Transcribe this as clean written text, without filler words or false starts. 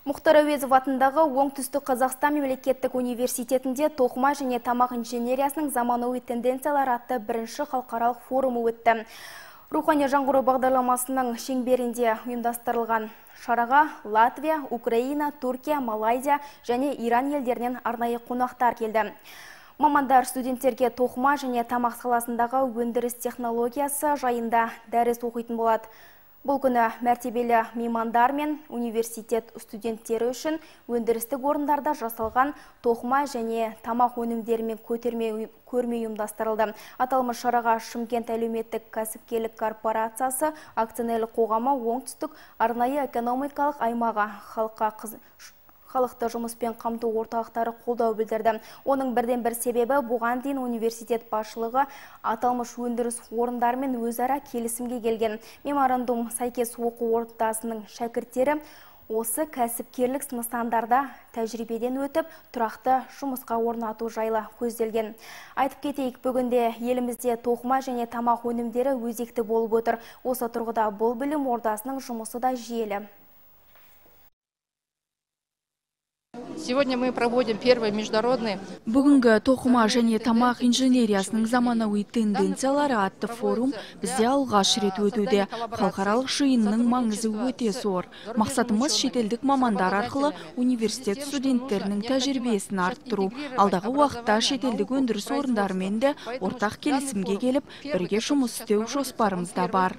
Мұхтар Әуезов атындағы Оңтүстік Қазақстан мемлекеттік университетінде тоқыма және тамақ инженериясының заманауи тенденциялары атты бірінші халықаралық форумы өтті. Рухани жаңғыру бағдарламасының шеңберінде ұйымдастырылған шараға Латвия, Украина, Түркия, Малайзия және Иран елдерінен арнайы қонақтар келді. Мамандар студенттерге тоқыма және тамақ саласындағы өндіріс технологиясы жайында дәріс оқитын болады. Бұл күні мәртебелі меймандар мен университет студенттері үшін өндірістік орындарда жасалған тоқыма және тамақ өнімдерімен көрме ұйымдастырылды. Аталмыш шараға Шымкент әлеуметтік кәсіпкерлік корпорациясы акционерлік қоғамы оңтүстік арнайы экономикалық аймағы халықты жұмыспен қамту орталықтары қолдау білдірді. Оның бірден бір себебі бұған дейін университет басшылығы аталмыш өндіріс орындарымен өзара келісімге келген. Меморандум сәйкес оқу ордасының шәкірттері осы кәсіпкерлік нысандарда тәжірибеден өтіп, тұрақты жұмысқа орнату жайлы көзделген. Айтып кетейік, бүгінде елімізде тоқыма және тамақ өнімдері өзекті болып отыр. Осы тұрғыда бұл білім ордасының жұмысы да жүйелі. Сегодня мы проводим первый международный. Бүгінгі тоқыма және тамақ инженериясының заманауи тенденциялары атты форум бізде алғаш рет өтуде. Халықаралық жиынның маңызы өте зор. Мақсатымыз шетелдік мамандар арқылы университет студенттерінің тәжірибесін арттыру. Алдағы уақытта шетелдік өндіріс орындарымен де ортақ келісімге келіп, бірге жұмыс істеу жоспарымызда бар.